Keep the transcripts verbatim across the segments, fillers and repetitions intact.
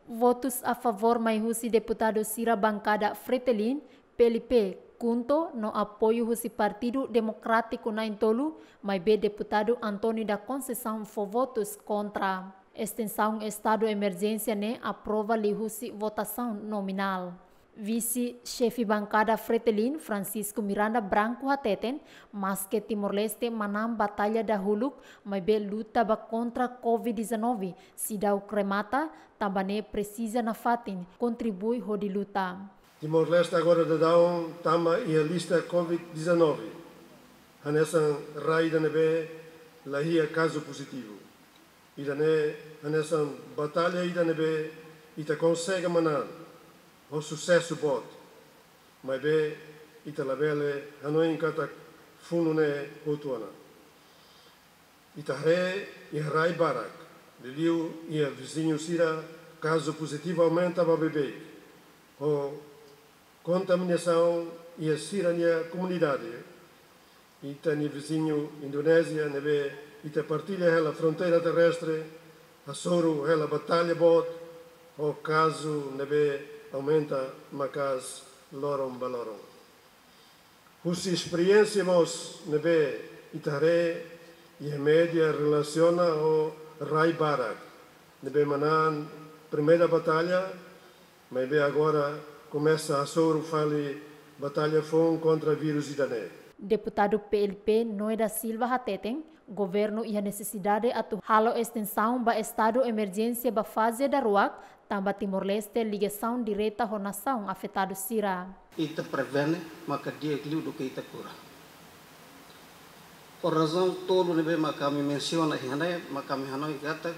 Votus a favór mai husi deputadu sira bankada Fretilin, P L P, KHUNTO no apoiu husi Partidu Demokrátiku na'in-tolu, maibé deputadu António da Conceição fó votus kontra. Estensaun estadu emerjénsia ne'e aprova liuhusi votasaun nominál. Vise-xefe bankada Fretilin, Francisco Miranda Branco hateten, maske Timor-Leste manán batalla dahuluk, maibé luta ba kontra covid dezanove seidauk remata, tanba ne'e presiza nafatin kontribui hodi luta. Timor-Leste agora daudaun tama iha lista covid dezanove, hanesan rai ida ne'ebé la iha kazu pozitivu. Ida-ne'e hanesan batalla ida ne'ebé ita konsege manán ho susesu boot, maibé ita labele hanoin katak funu ne'e hotu ona. Ita haree iha rai barak, liuliu iha viziñu sira, kazu pozitivu aumenta ba beibeik, ho kontaminasaun iha sira-nia komunidade. Ita-nia viziñu Indonézia ne'ebé ita partilla hela fronteira terrestre, hasoru hela batalla boot ho kazu ne'ebé aumenta maka'as loron ba loron. Husi esperiénsia mós ne'ebé ita haree iha média relasiona ho rai barak ne'ebé manán primeira batalla, maibé agora komesa hasoru fali batalla foun kontra vírus ida-ne'e. Deputadu P L P Noé da Silva hateten, governu iha nesesidade atu halo estensaun ba estadu emerjénsia ba faze daruak, tanba Timor-Leste ligasaun direta ho nasaun afetadu sira. Ita prevene maka di'ak liu duké ita kura. Ho razaun tolu ne'ebé maka ami mensiona iha ne'e, maka ami hanoin katak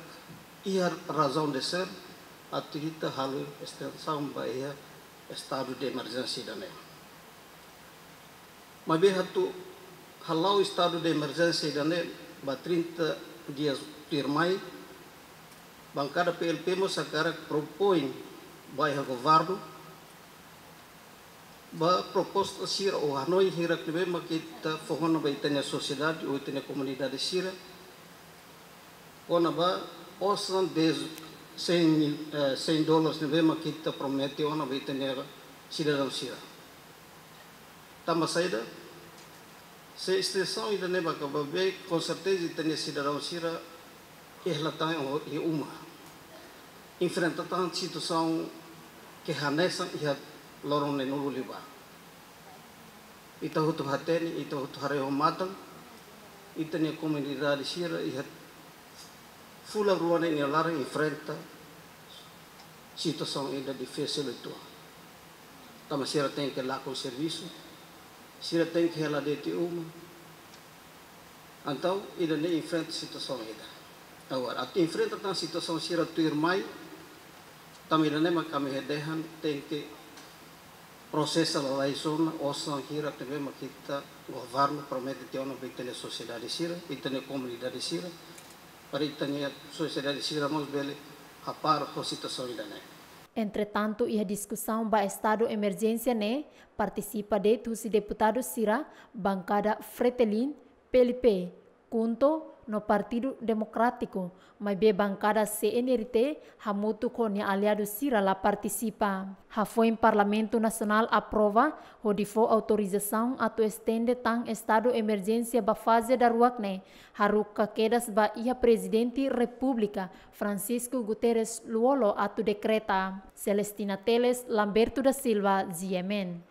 iha razaun de ser atu ita halo estensaun ba iha estadu de emerjénsia ida-ne'e. Maibé atu hala'o estadu de emerjénsia ida-ne'e ba trinta dias tuirmai, bankada P L P mós hakarak propoin ba iha governu, ba proposta sira ou hanoin hirak ne'ebé maka ita fó ona ba ita-nia sosiedade ou ita-nia komunidade sira, kona-ba osan de cem mil, eh, cem dólares ne'ebé maka ita promete ona ba ita-nia sidadaun sira. Tanba saida, se estensaun ida-ne'e maka ba beibeik, com certeza ita-nia sidadaun sira hela tan iha uma, enfrenta tan situasaun ke hanesan iha loron neenulu liubá. Ita hotu hatene, ita hotu haree ho matan, ita-nia komunidade sira iha fulan rua ne'e nia laran enfrenta situasaun ida difisil uitoan. Tanba sira tenke lakon servisu, sira tenke hela de'it iha uma. Entaun, ida-ne'e enfrenta situasaun ida. Agora, atu enfrenta tan situasaun sira tuirmai, tanba ida-ne'e maka ami dehan tenke prosesa lalais ona osan hirak ne'ebé maka ita governu promete tiha ona ba ita-nia sosiedade sira, ita-nia komunidade sira, para ita-nia sosiedade sira mós bele hapara ho situasaun ida-ne'e. Entretantu, iha diskusaun ba estadu emerjénsia ne'e, partisipa de'it husi deputadu sira bankada Fretilin, P L P, KHUNTO no Partidu Demokrátiku, maibé bankada C N R T hamutuk ho nia aliadu sira la partisipa. Hafoin Parlamentu Nasionál aprova hodi fó autorizasaun atu estende tan estadu emerjénsia ba faze daruak ne'e, haruka kedas ba iha Prezidente Repúblika, Francisco Guterres Lú-Olo, atu dekreta. Celestina Teles, Lamberto da Silva, G M N.